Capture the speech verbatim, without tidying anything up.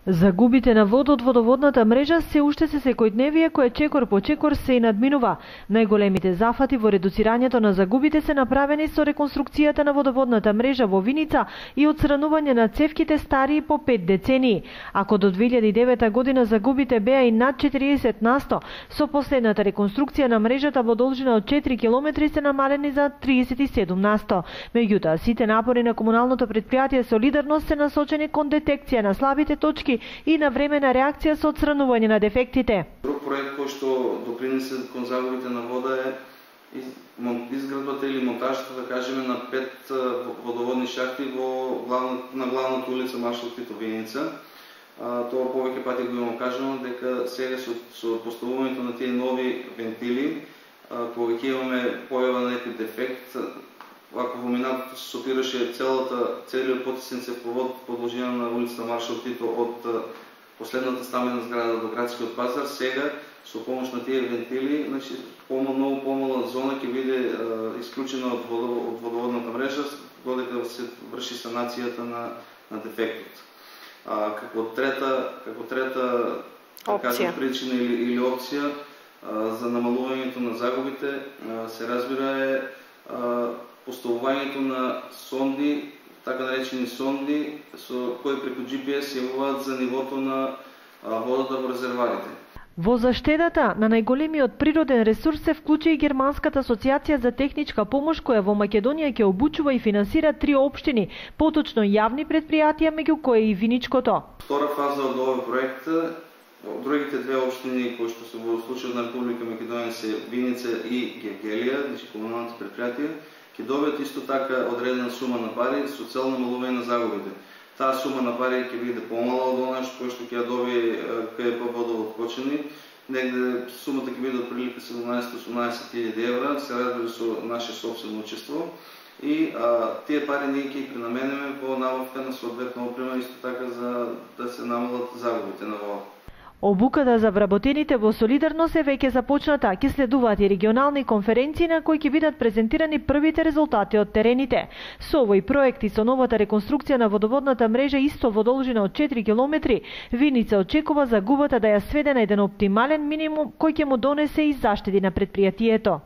Загубите на вода од водоводната мрежа се уште се секојдневие кое чекор по чекор се и надминува. Најголемите зафати во редуцирањето на загубите се направени со реконструкцијата на водоводната мрежа во Виница и отстранување на цевките старии по пет децении. Ако до две илјади и девета година загубите беа и над четириесет на сто, со последната реконструкција на мрежата во должина од четири километри се намалени за триесет и седум на сто. Меѓутоа, сите напори на комуналното предпријатие Солидарност се насочени кон детекција на слабите точки и на времена реакција со отстранување на дефектите. Друг проект кој што допринесе кон загубите на вода е изградбата или монтажата, да кажеме, на пет водоводни шахти во главна, на главната улица Маршал Тито Виница. Тоа повеќе пати го имам кажано, дека сега со, со поставувањето на тие нови вентили, кога ќе имаме појава на некој дефект, ако во минатото се сопираше целата, целиот потисен цевковод по должина на улица Маршал Тито од последната стамена зграда до градскиот пазар, сега со помош на тие вентили, значи помалку помала зона ќе биде исклучена од, водо, од водоводната мрежа додека се врши санацијата на, на дефектот. А, како трета, како трета да кажем, причина или, или опција а, за намалувањето на загубите а, се разбира е а, поставувањето на сонди, така наречени сонди, со кои преку Джи Пи Ес јавуваат за нивото на а, водата во резерварите. Во заштедата на најголемиот природен ресурс се вклучи и Германската асоциација за техничка помош, која во Македонија ќе обучува и финансира три општини, поточно јавни предпријатија, меѓу кои и Виничкото. Втора фаза од овој проект, другите две општини кои што се во случајот на Република Македонија се Виница и Гевгелија, значи комуналните предпријатија, ќе добијат исто така одредена сума на пари со цел намалување на загубите. Таа сума на пари ќе биде помала од она што што ќе ја добие Ка Е Пе Водовод Кочани. Негде сумата ќе биде од прилика седумнаесет до осумнаесет илјади евра, се разбира со наше собствено учество. И а, тие пари ние ќе ги пренаменеме во набавка на соодветна опрема, исто така за да се намалат загубите на вода. Обуката за вработените во Солидарност е веќе започната, ќе следуваат и регионални конференции на кои ќе бидат презентирани првите резултати од терените. Со овој проект и со новата реконструкција на водоводната мрежа исто во должина од четири километри, Виница очекува загубата да ја сведе на еден оптимален минимум кој ќе му донесе и заштеди на предпријатието.